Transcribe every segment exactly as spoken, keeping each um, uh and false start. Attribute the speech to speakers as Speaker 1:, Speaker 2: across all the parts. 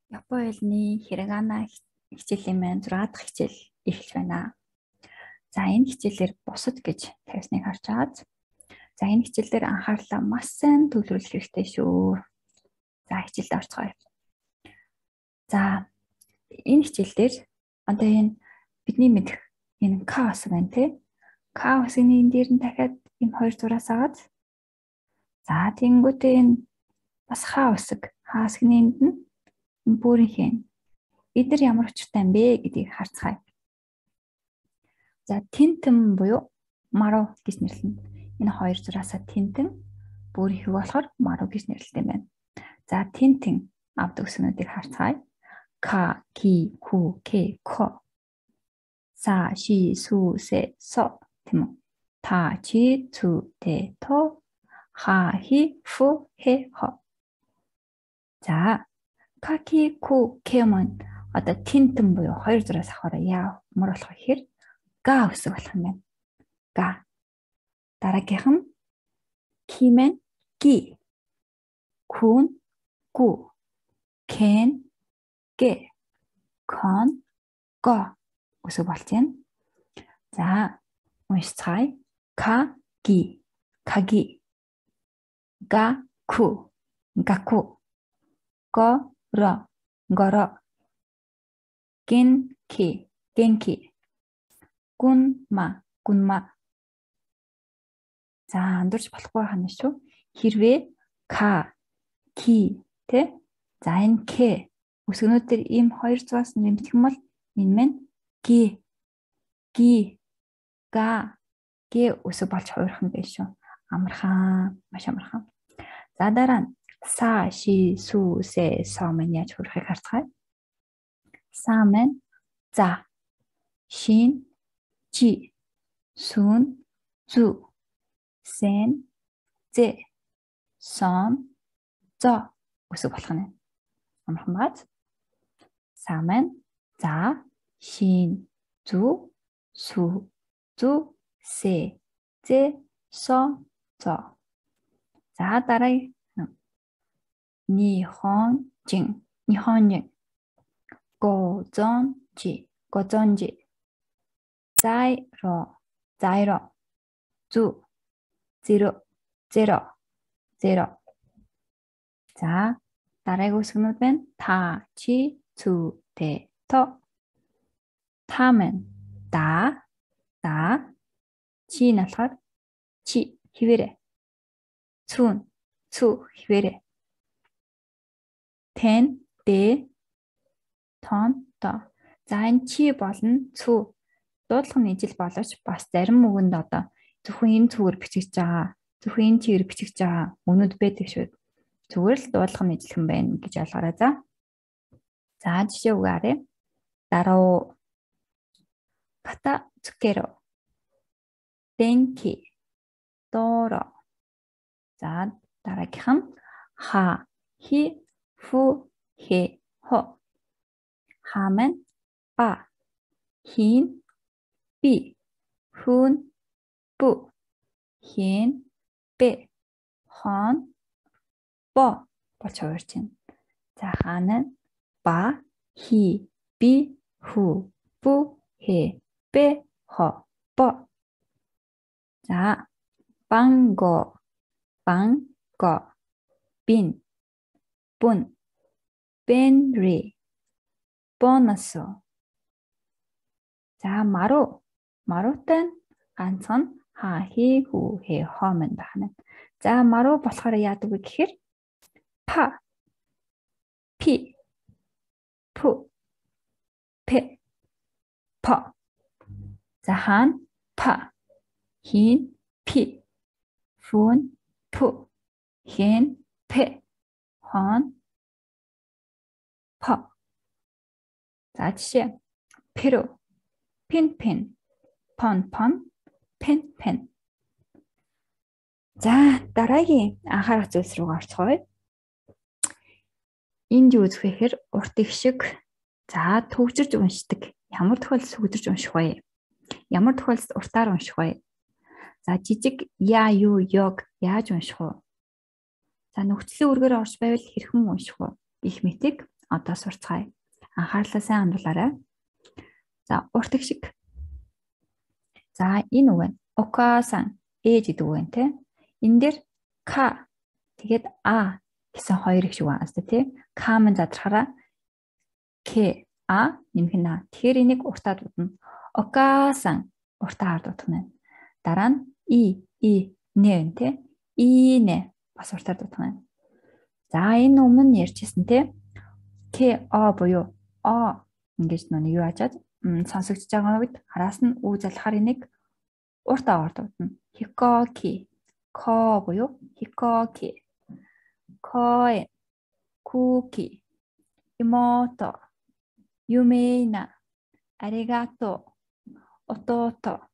Speaker 1: Япон хэлний хирогана хичээлийн маань зураг дахь хичээл эхэлж байна. За энэ хичээлээр бусад гэж тавьсныг харж байгаа. За энэ хичээлээр анхаарлаа маш сайн төвлөрүүлэх хэрэгтэй шүү. За хичээлд орцгоё. За энэ хичээлээр одоо энэ бидний мэдэх энэ К хэсэг байна тий. К хэсгийн энэ дээр нь дахиад энэ хоёр зураас агаад. За тэгэнгүүтээ энэ бас Х хэсэг, Х хэсгийн энд нь бүрийнх. Эдгээр ямар учиртай юм бэ гэдгийг харцгаая. За тентэн буюу маруу гэж нэрлэнэ. Энэ хоёр зураасаа тентэн бүрийнх болохоор маруу гэж нэрлэдэг юм байна. За тентэн авдаг үгсүүдийг харцгаая. К, ки, ку, ке, ко. Са, ши, су, се, со тийм үү? Та, чи, цу, те, то. Ха, хи, фу, хе, хо. За К, ки, ку, ке маань одоо тентэн буюу хоёр зураас авахаараа ямар болох вэ гэхээр га үсэг болох юм байна. Га. Дараагийнх нь ки маань ги. Кун гу. Кен ге. Кон го үсэг болж байна. За уншицгаая. К ги. Каги. Га ку. Гаку. Го ро. Горо. Генки. Генки. Гунма. Гунма. За андуурч болохгүй хана шүү. Хэрвээ К, Ки тэ. За энэ К үсгнүүдээр ийм хоёр зураас нэмэх юм бол энэ маань Г, Ги, Га, Г үсэг болж хуурхан байх шүү. Амархан, маш амархан. За дараа нь Са, ши, су, се, со маань яаж хуурахыг харцгаая. Са маань за, шин, жи, сун, зу, сен, зе, сон, зо үсэг болох нь. Амархан бааз. Са маань за, шин, зу, су, зу, се, зе, со, зо. За дараа Нихонжин, Нихонжин. Гозонжи, Гозонжи. Зайро, Зайро. Зу, Зиро, Зеро, Зеро. За дараагийн үсгнүүд байна. Та, чи, цу, те, то. Та маань да, да. Чи нь болохоор чи хിവэрэ. Цүн, цү хിവэрэ. Тэн, дэ, тон, то. За энэ чи болон цү дуудлагын ижил боловч бас зарим үгэнд одоо зөвхөн энэ цүгээр бичиж байгаа, зөвхөн энэ чигээр бичиж байгаа үнүүд байдаг шүү. Зүгээр л дуудлагын ижилхэн байна гэж ойлгоорой за. За жишээ үг арай. Даруу ката цукеро. Денки. Доро. За дараагийнх нь ха, хи, фу, хе, хо. Ха маань ба, хин, би, хүн, бу, хин, бэ, хон, бо болж хувирч байна. За хаана ба, хи, би, ху, бу, хе, бэ, хо, бо. За банго, банго, бин, бун, бенри, бонусо. За мару, марутай ганцхан ха, хи, ху, хе, хо мэн байна. За мару болохоор яадаг вэ гэхээр па, пи, пу, пе, по. За хаан па, хин, пи, фун, пу, хин, пе, хон, по. За жишээ перу, пин, пин, пон, пон, пен, пен. За дараагийн анхаарах зүйлс рүү орцгоё. Энд юу үзэх вэ гэхээр урт их шиг за төвчрж уншдаг. Ямар тохиолдолд төвчрж унших вэ? Ямар тохиолдолд уртаар унших вэ? За жижиг я, ю, йог яаж унших вэ? За нөхцөлийн үргээр орж байвал хэрхэн унших вэ? Гэх мэтийг одоо сурцгаая. Анхаарлаа сайн хандуулаарай. За урт шиг. За энэ үг нь окасан ээж гэдэг үг нэ. Энэ дээр ка тэгээд а гэсэн хоёр их шиг байна шүү дээ, тий. Кам задрахаараа к а нэмэх нь а. Тэгэхээр энийг уртаа дуудана. Окасан уртаа дуудах нь. Дараа нь и и нэ тий. И нэ бас уртаа дуудах нь. За энэ өмнө нь ярьжсэн тий. К а буюу а ингэж нүг юу ажаад сонсогдож байгаа үед хараас нь үү залхахаар энийг урт аваар дуудана. Хикоки ко буюу хикоки. Кой куки имото юмейна аригато отото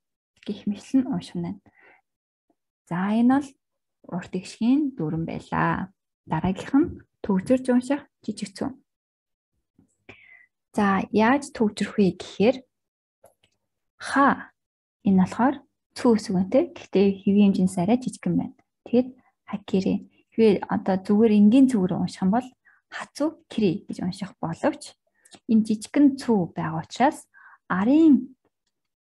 Speaker 1: гэх мэтлэн унших нь. За энэ бол урт игшгийн дүрэн байлаа. Дараагийнх нь төгжирж унших жижиг цүн. За яаж төгжрөх вэ гэхээр ха энэ болохоор цүү үсгэнтэй. Гэхдээ хэвийн хэмжээс арай жижигхэн байна. Тэгэд хакири хэрвээ одоо зүгээр энгийн цүгээр унших юм бол хацу кри гэж унших боловч энэ жижигхэн цүү байгаа учраас арын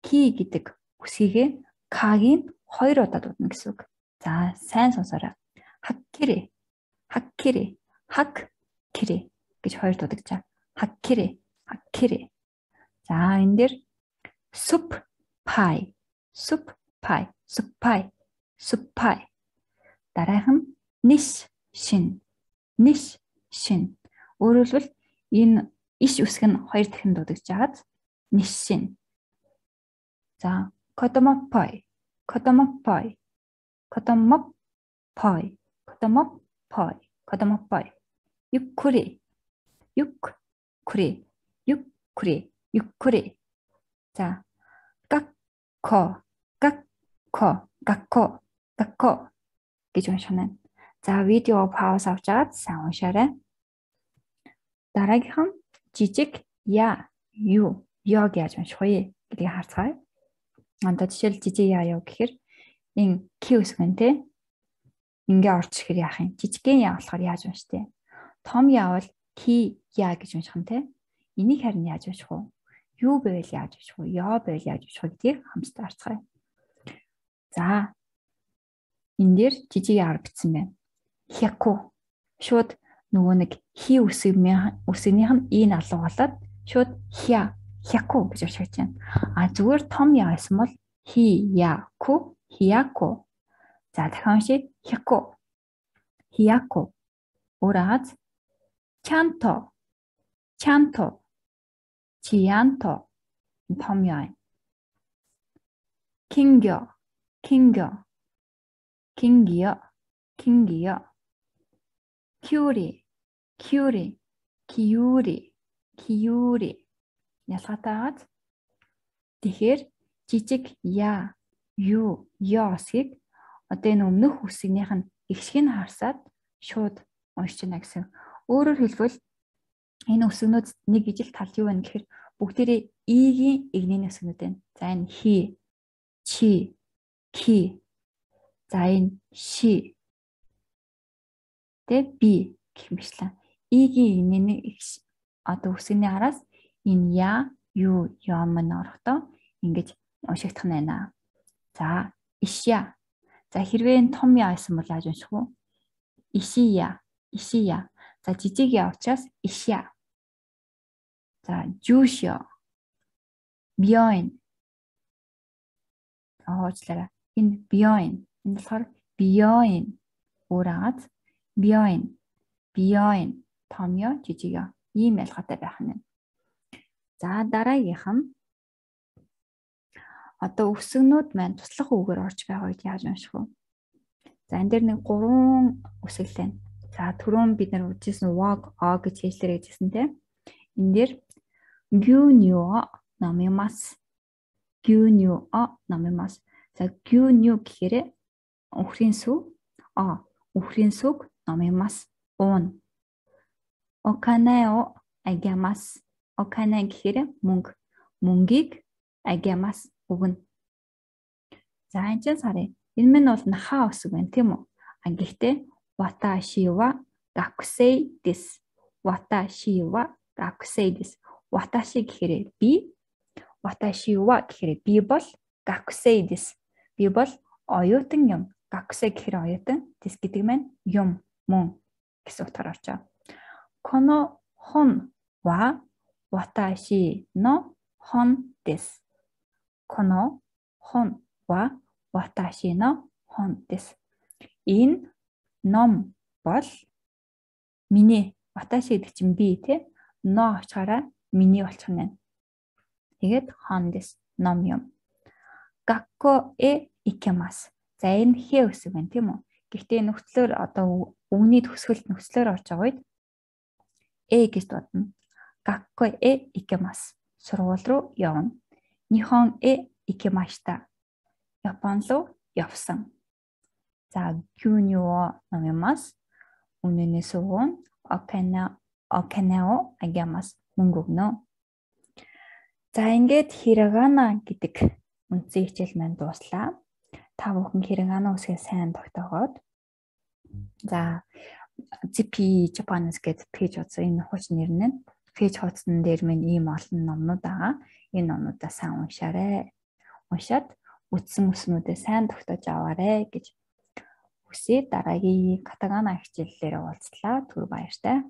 Speaker 1: ки гэдэг үсгийг кагийн хоёр удаа дуудана гэсэн үг. За сайн сонсоорой. Хаккири хаккири хак кири гэж хоёр дуудагчаа. Хаккири хаккири. За энэ дээр суп пай суп пай суп пай суп пай. Дараах нь ниш шин ниш шин. Өөрөлдвөл энэ иш үсэг нь хоёр дахин дуудаж жагаад ниш шин. За котомоппой котомоппой котомоппой котомоппой котомоппой. Юккури юккури юккури юккури. За гакко гакко гакко гакко гэж унших нь. За видео пауз авч аваад сайн уншаарай. Дараагийнх нь жижиг я юё гэж унших уу гэдгийг харцгаая. Анда жишээл жижиг я юу гэхээр энэ q үсгэн те ингээ орж ирэхээр яах юм? Жижигхэн я болохоор яаж унших вэ? Том я бол ки я гэж унших нь те. Энийг харин яаж унших вэ? Юу байвал яаж унших вэ? Ёо байвал яаж унших вэ гэдгийг хамтдаа харцгаая. За энэ дээр жижиг яар бичсэн байна. Хяку шууд нөгөө нэг хи үсгийнх үсгийнх нь ийн алуу болоод шууд хя хяку гэж уншиж байна. А зүгээр том я байсан бол хи яку хяку. За дахин уншия. Хяку хяку. Ураад чанто чанто чианто том я. кингё кингё кингиё кингиё. Кюри кюри киюри киюри. Ялгатаагаад тэгэхээр жижиг я ю ёсгийг одоо энэ өмнөх үсгийнх нь ихшгийг харсаад шууд уншиж байна гэсэн. Өөрөөр хэлбэл энэ үсгнүүд нэг ижил тал юу вэ гэхээр бүгдээрээ игийн игнийн үсгнүүд байна. За энэ хи чи ки. За энэ ши тэ би гэх мэтлэн игийн игнийн одоо үсгний араас энэ я ю юм норохдоо ингэж уншигдах нь байна. За ишя. За хэрвээ энэ том я байсан бол яаж унших вэ? Ишия ишия. За жижиг я учраас ишя. За жушё бьёин. Аачлаарай. Энэ бьёин. Энэ болохоор бьёин. Ураад бьёин бьёин. Том я жижиг я. Ийм ялгаатай байх нь. За дараагийнх нь одоо үсгнүүд маань туслах үгээр орж байгаа үед яаж унших вэ? За энэ дээр нэг гурван үсэг л байна. За түрүүн бид нар үзсэн walk о гэж хэллээрэй гэсэн тийм. Энэ дээр гюньо намимас гюньо намимас. За гюньо гэхээр өхрийн сүв а өхрийн сүг намимас уун. Оканео агямас. Окана гэхээр мөнгө. Мөнгийг агямас өгнө. За энэ ч сарын. Энэ минь бол наха үсэг байна тийм үү? А гэхдээ ваташи ва гакусей дес. watashi wa gakusei desu. Watashi гэхээр би, watashi wa гэхээр би бол gakusei desu. Би бол оюутан юм. Gakusei гэхээр оюутан, desu гэдэг маань юм, мөн гэсэн утгаар орж байгаа. Kono hon wa watashi no hon desu. Kono hon wa watashi no hon desu. Энэ ном бол миний, watashi гэдэг чинь би те, но очихаараа миний болчих нь. Тэгээд hon desu, ном юм. Gakko e ikemasu. За энэ хэ үсэг байна тийм үү? Гэхдээ нөхцлөөр одоо үгний төгсгөлт нөхцлөөр орж байгаа үед э гэж дуудана. Gakko e ikemasu. Сургууль руу явна. Nihon e ikemashita. Япон руу явсан. За gyūnyū wo nomimasu. Үнэнээс уун okana okana wo agamasu. Мөнгө өгнө. За ингээд hiragana гэдэг үндсэн хичээл маань дууслаа. Та бүхэн hiragana үсгээ сайн тогтоогоод. За зипи Japanese гэдэг пэйж хуудсан энэ хууч нэр нь пэйж хуудсан дээр минь ийм олон номнууд байгаа. Энэ номнуудаа сайн уншаарай. Уншаад үтсэн үснүүдээ сайн тогтоож аваарай гэж хүсээ. Дараагийн катагана хичээллээрээ уулзлаа. Түр баяртай.